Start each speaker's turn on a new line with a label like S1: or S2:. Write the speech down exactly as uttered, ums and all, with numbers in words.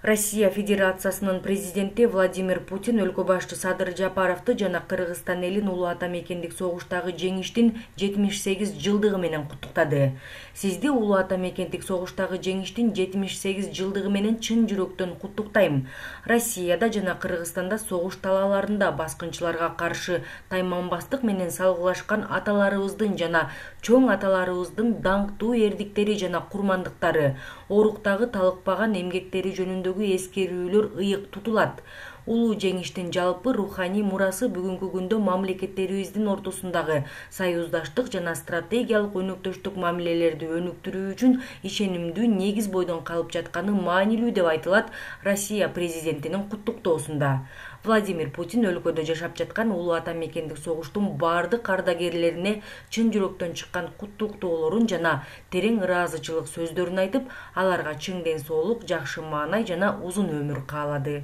S1: Россия Федерациясынын президенти Владимир Путин өлкө башчы Садыр Жапаровду жана Кыргызстан элин улуу ата мекендик согуштагы жеңиштин жетимиш сегиз жылдыгы менен куттуктады. Сизди улуу ата мекендик согуштагы жеңиштин жетимиш сегиз жылдыгы менен чын жүрөктөн куттуктайм. Россияда жана Кыргызстанда согуш талааларында баскынчыларга каршы тайманбастык менен салгылашкан аталарыбыздын жана чоң аталарыбыздын даңктуу эрдиктери жана курмандыктары, оруктагы талыкпаган эмгектери жөнүндө эскерүүлөр ыйык тутулат. Улуу жеңиштин жалпы руханий мурасы бүгүнкү күндө мамлекеттерибиздин ортосундагы союздаштык жана стратегиялык өнөктөштүк мамилелерди өнүктүрүү үчүн ишенимдүү негиз бойдон калып жатканы маанилүү деп айтылат Россия президентинин куттуктоосунда. Владимир Путин өлкөдө жашап жаткан улуу ата мекендик согуштун бардык ардагерлерине чын жүрөктөн чыккан куттуктоолорун жана терең ыраазычылык сөздөрүн айтып, аларга чың ден соолук, жакшы маанай жана узун өмүр каалады.